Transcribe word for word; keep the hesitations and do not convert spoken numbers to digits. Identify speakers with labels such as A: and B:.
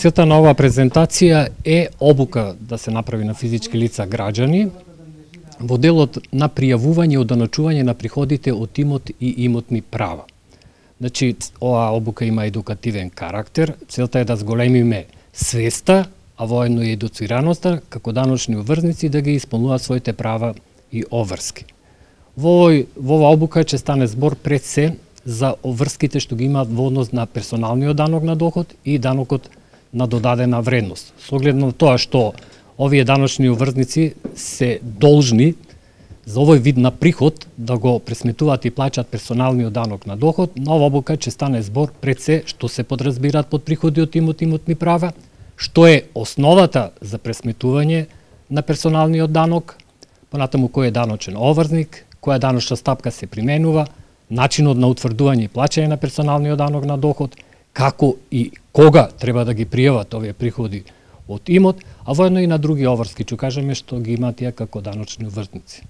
A: Целта на оваа презентација е обука да се направи на физички лица граѓани во делот на пријавување и оданочување на приходите од имот и имотни права. Значи, оваа обука има едукативен карактер, целта е да зголемиме свеста, а воедно и едуцираноста, како даночни обврзници да ги исполнуваат своите права и обврски. Во, во оваа обука ќе стане збор пред се за обврските што ги имаат во однос на персоналниот данок на доход и данокот на додадена вредност. Со оглед на тоа што овие даночни обврзници се должни за овој вид на приход да го пресметуваат и плаќаат персоналниот данок на доход, на оваа обука ќе стане збор пред се што се подразбираат под приходи од имот и имотни права, што е основата за пресметување на персоналниот данок, понатаму кој е даночен обврзник, која даночна стапка се применува, начинот на утврдување и плаќање на персоналниот данок на доход, како и кога треба да ги пријават овие приходи од имот, а воедно и на други обврски, ќе кажеме што ги имаат тие како даночни обврзници.